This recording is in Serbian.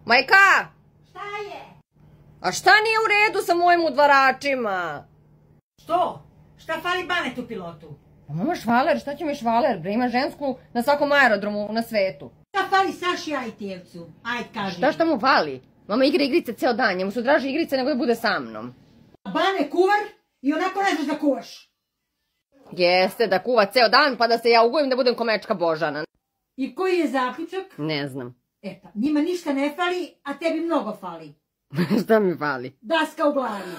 Majka! Šta je? A šta nije u redu sa mojim udvaračima? Što? Šta fali Banetu pilotu? Pa mama švaler, šta će mi švaler, bre, ima žensku na svakom aerodromu na svetu. Šta fali Saši Ajtijevcu? Ajde, kaži. Šta mu fali? Mama igra igrice ceo dan, njemu su draže igrice nego da bude sa mnom. Bane kuvar i onako ne znaš da kuvaš. Jeste, da kuva ceo dan pa da se ja ugojim da budem komečka Božana. I koji je zaključak? Ne znam. E pa, njima ništa ne fali, a tebi mnogo fali. Šta mi fali? Daska u glavi.